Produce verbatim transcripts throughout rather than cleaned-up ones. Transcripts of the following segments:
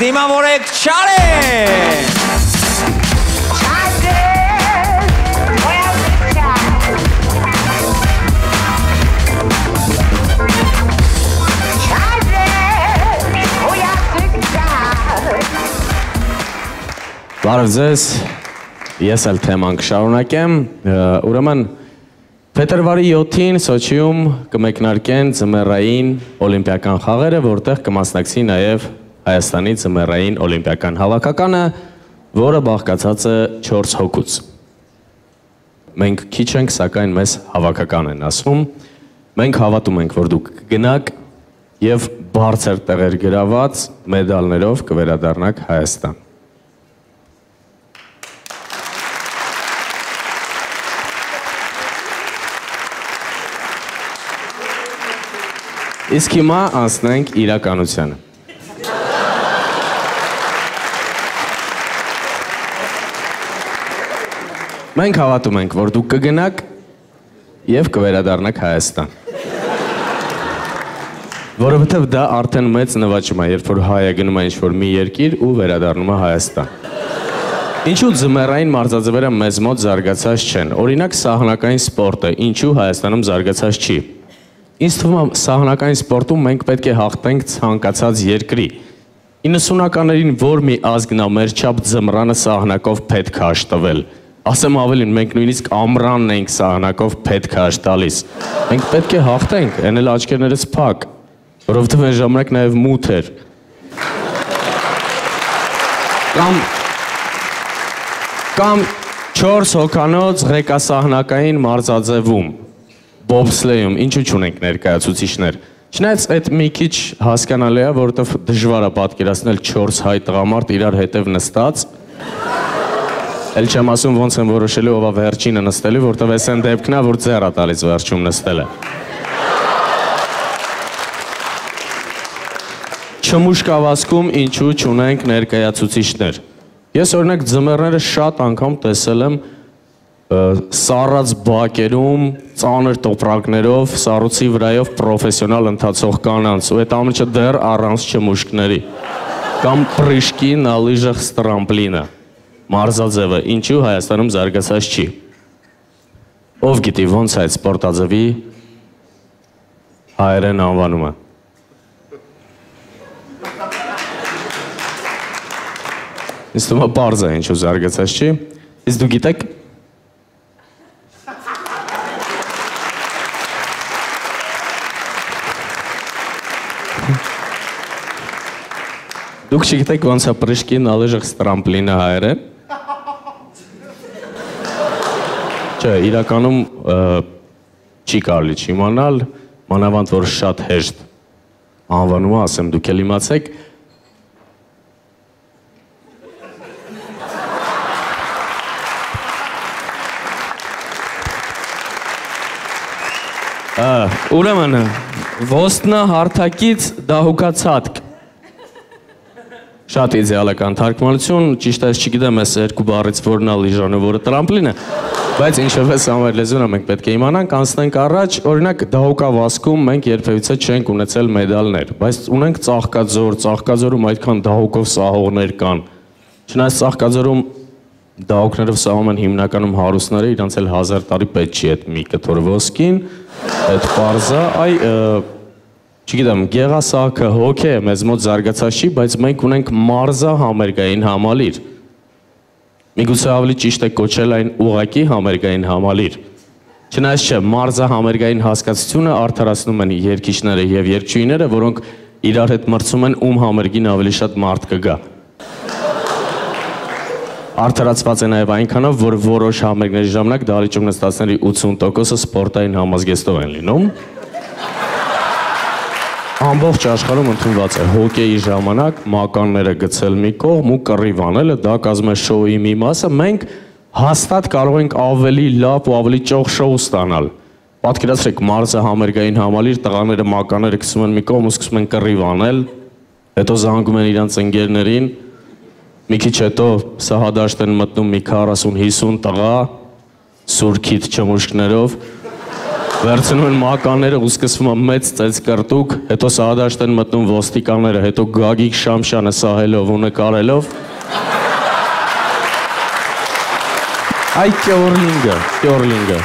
դիմավորեք Չարեն։ Բարև ձեզ, ես էլ թեման կշարունակեմ, ուրեմն փետրվարի յոթին Սոչիում կմեկնարկեն ձմեռային օլիմպիական խաղերը, որտեղ կմասնակցի նաև Հայաստանի ձմեռային օլիմպիական հավաքականը, որը բաղկացած է չորս հոգուց։ Մենք քիչ ենք, սակայն մեզ հավաքական են ասում, մենք հավատում ենք, որ դուք կգնաք և բարձր տեղեր գրաված մեդալներով կվերադառնաք Հայաստան։ Իսկ հիմա անցնենք իրականությանը։ Մենք հավատում ենք, որ դուք կգնաք և կվերադառնաք Հայաստան։ Որովհետև դա արդեն մեծ նվաճում է, երբ որ հայը գնում է ինչ-որ մի երկիր ու վերադառնում է Հայաստան։ Ինչու ձմեռային մարզաձևերը մեզ մոտ զարգացած չեն։ Օրինակ սահանակային սպորտը, ինչու Հայաստանում զարգացած չի։ Ինձ թվում է սահանակային սպորտում մենք պետք է հաղթենք ցանկացած երկրի։ իննսունականներին որ մի ազգն է մեր չափ ձմռանը սահանակով պետք է հաշտվել։ Ասեմ ավելին, մենք նույնիսկ ամռանն ենք սահանակով պետք է հաշտալիս։ Մենք պետք է հաղթենք, այն էլ աչքերներս փակ, որովհետև այն ժամանակ նաև մութ էր։ Կամ կամ չորս հոգանոց ղեկասահնակային մարզաձևում բոբսլեյում, ինչու չունենք ներկայացուցիչներ։ Չնայած այդ մի քիչ հասկանալի է, որովհետև դժվար է պատկերացնել չորս հայ տղամարդ իրար հետև նստած։ Էլ չեմ ասում ոնց են որոշելու ով է վերջինը նստելու, որովհետև այս այն դեպքն է, որ ձեռ է տալիս վերջում նստելը։ Չմուշկավազքում ինչու չունենք ներկայացուցիչներ։ Ես օրինակ ձմեռները շատ անգամ տեսել եմ սառած բակերում, ծանր տոպրակներով, սառույցի վրայով պրոֆեսիոնալ ընթացող կանանց, ու այդ ամենը դեռ առանց չմուշկների։ Կամ պրիշկի, նալիժը, ստրամպլինը, մարզաձևը, ինչու Հայաստանում զարգացած չի։ Ով գիտի ոնց այդ սպորտաձևի հայերեն անվանումը։ Ինձ թվում է պարզ է ինչու զարգացած չի, իսկ դու գիտեք Դուք չգիտեք ոնց է պրիշկի, նալիժը, ստրամպլինը հայերեն։ Չէ, իրականում չի կարելի չիմանալ, մանավանդ որ շատ հեշտ անվանում է, ասեմ դուք էլ իմացեք։ Ուրեմն, ոստնա հարթակից դահուկացատկ։ Շատ իդեալական թարգմանություն, ճիշտ այս չգիտեմ այս երկու բառից որն է լիժանը, որը տրամպլինը, բայց ինչպես ամեր լեզուն է մենք պետք է իմանանք, անցնենք առաջ, օրինակ դահուկավազքում մենք երբևիցե չենք ունեցել մեդալներ, բայց ունենք Ծաղկաձոր, Ծաղկաձորում այդքան դահուկով սահողներ կան։ Չնայած Ծաղկաձորում դահուկներով սահում են հիմնականում հարուստները, իրանց էլ հազար տարի պետք չի այդ մի կտոր ոսկին, այդ պարզա, այ չգիտեմ, գեղասահքը հոգ է, մեզ մոտ զարգացած չի, բայց մենք ունենք մարզա համերգային համալիր։ Միգուցե ավելի ճիշտ է կոչել այն ուղղակի համերգային համալիր։ Չնայած չէ, մարզա համերգային հասկացությունը արդարացնում են երգիչները և երգչուհիները, որոնք իրար հետ մրցում են ում համերգին ավելի շատ մարդ կգա։ Արդարացված է նաև այնքանով, որ որոշ համերգների ժամանակ դահլիճում նստածների ութսուն տոկոսը սպորտային համազգեստով են լինում։ Ամբողջ աշխարհում ընդունված է հոկեյի ժամանակ մականները գցել մի կողմ ու կռիվ անելը, դա կազմում է շոուի մի մասը, մենք հաստատ կարող ենք ավելի լավ ու ավելի ճոխ շոու ստանալ։ Պատկերացրեք մարզը համերգային համալիր, տղաները մականները գցում են մի կողմ ու սկսում են կռիվ անել, հետո զանգում են իրանց ընկերներին, մի քիչ հետո սահադաշտ են մտնում մի քառասուն հիսուն տղա, սուրքիթ չմուշկներով, Վերցնում են մականները ու սկսվում է մեծ ծեծ կրտուկ, հետո սահադաշտ են մտնում ոստիկանները, հետո Գագիկ Շամշյանը սահելով ու նկարելով։ Այ Կյորլինգը, Կյորլինգը։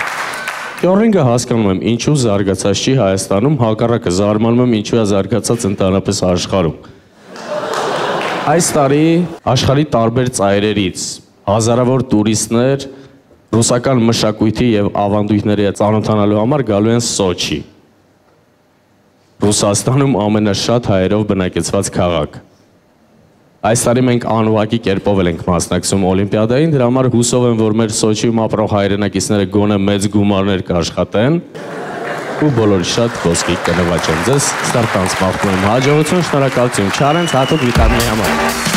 Կյորլինգը հասկանում եմ, ինչու զարգացած չի Հայաստանում, հակառակը զարմանում եմ, ինչու է զարգացած ընդհանրապես աշխարհում։ Այս տարի աշխարհի տարբեր ծայրերից հազարավոր տուրիստներ ռուսական մշակույթի եւ ավանդույթների հետ ծանոթանալու համար գալու են Սոչի։ Ռուսաստանում ամենաշատ հայերով բնակեցված քաղաք։ Այս տարի մենք անուղղակի կերպով ենք մասնակցում Օլիմպիադային, դրա համար հուսով եմ, որ մեր Սոչիում ապրող հայրենակիցները գոնե մեծ գումարներ կաշխատեն ու բոլորի շատ ոսկի կնվաճեն։ Ձեզ ստարտանց մաղթում եմ հաջողություն, շնորհակալություն Չարենց հատուկ վիտամինի համար։